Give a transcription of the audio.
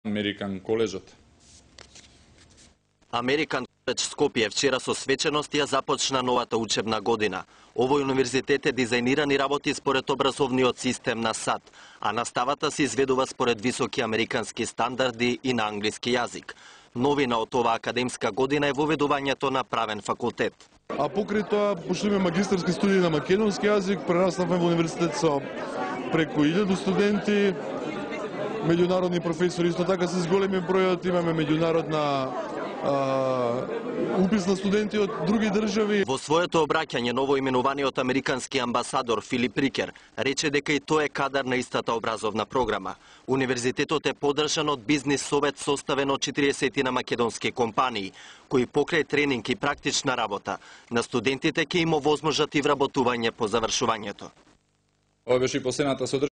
Американ коледжот. Американ коледж Скопје вчера со свеченост ја започна новата учебна година. Овој универзитет е дизајниран и работи според образовниот систем на САД, а наставата се изведува според високи американски стандарди и на англиски јазик. Новина од оваа академска година е воведувањето на правен факултет. А покрај тоа, пошто имаме магистарски студии на македонски јазик, прераснавме во универзитет со преку 1000 студенти, меѓународни професори, исто така се зголеми бројот, имаме меѓународна упис на студенти од други држави. Во своето обраќање новоименуваниот американски амбасадор Филип Рикер рече дека и тој е кадар на истата образовна програма. Универзитетот е поддржан од бизнис совет составен од 40 на македонски компании, кои покрај тренинг и практична работа на студентите ќе им овозможат и вработување по завршувањето. Ова беше и последната содржина